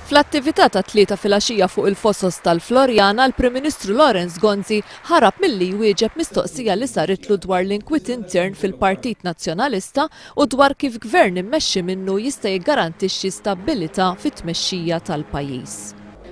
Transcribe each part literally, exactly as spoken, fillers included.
Fl-attività tat-Tlieta filgħaxija fuq il-Fosos tal-Floriana, l-Prim Ministru Lawrence Gonzi ħarab milli jwieġeb mistoqsija li saritlu dwar l-inkwiet intern fil-Partit Nazzjonalista u dwar kif gvern immexxi minnu jista' jiggarantixxi stabbilità fit-tmexxija tal-pajjiż.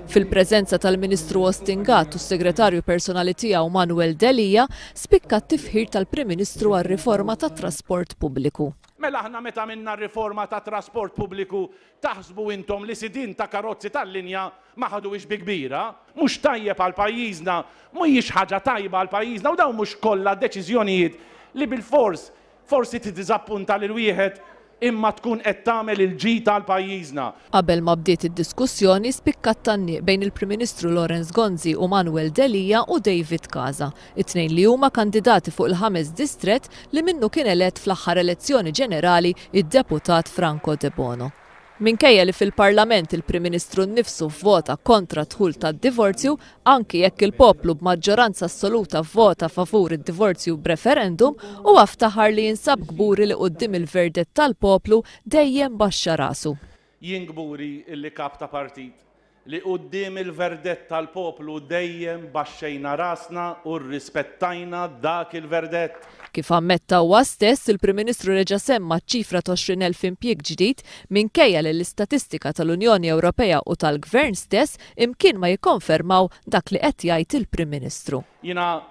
Fil-preżenza tal-Ministru Austin Gatt u s-Segretarju Personali tiegħu Manuel Delia, spikka t-tifħir tal-Prim Ministru għar-riforma tat-trasport pubbliku. Mela aħna meta għamilna r-riforma tat-trasport pubbliku, taħsbu intom li sidien ta' karozzi tal-linja ma ħaduhiex bi kbira? Mhux tajjeb għal pajjiżna, mhijiex ħaġa tajba għal pajjiżna u dawn mhux kollha deċiżjonijiet li bilfors forsi tiddiżappunta lil wieħed imma tkun qed tagħmel il-ġid għal pajjiżna. Qabel ma bdiet id-diskussjoni, spikka t-tgħanniq bejn il-Prim Ministru Lawrence Gonzi u Manuel Delia u David Casa, it-tnejn li huma kandidati fuq il-ħames distrett li minnu kien elett fl-aħħar elezzjoni ġenerali id-deputat Franco Debono. Minkejja li fil-Parlament il-Prim Ministru nnifsu vvota kontra d-dħul tad-divorzju, anki jekk il-poplu b'maġġoranza assoluta vvota favur id-divorzju b'referendum, huwa ftaħar li jinsab kburi li quddiem il-verdett tal-poplu dejjem baxxa rasu. Jien kburi illi kap ta' partit li quddiem il-verdett tal-poplu dejjem baxxejna rasna u rrispettajna dak il-verdett. Kif ammetta huwa stess, il-Prim Ministru reġa' semma ċ-ċifra ta' għoxrin elf impjieg ġdid minkejja li l-istatistika tal-Unjoni Ewropea u tal-Gvern stess imkien ma jikkonfermaw dak li qed jgħid il-Prim Ministru. Jiena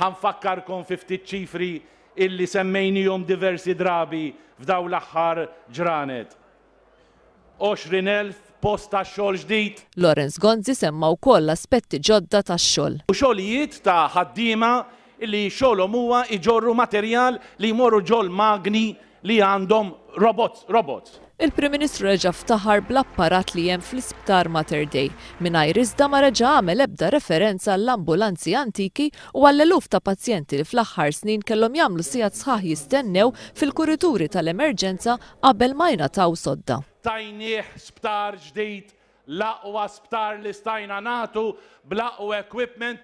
ħanfakkarkom fi ftit ċifri illi semmejnihom diversi drabi f'dawn l-aħħar ġranet. għoxrin elf post ta' xogħol ġdid. Lawrence Gonzi semma wkoll aspetti ġodda tax-xogħol. U xogħlijiet ta' ħaddiema li xogħolhom huwa iġorru materjal li jmorru ġol magni li għandhom robots, robots. Il-Prim Ministru reġa' ftaħar bl-apparat li hemm fl-isptar Mater Dei, mingħajr iżda ma reġa' għamel ebda referenza għall-ambulanzi antiki u għall-eluf ta' pazjenti li fl-aħħar snin kellhom jagħmlu sigħat sħaħ jistennew fil-kurituri tal-emerġenza qabel ma jingħataw sodda. Tajnieh sptar ġdid, l-aqwa sptar li stajna nagħtu bl-aqwa equipment.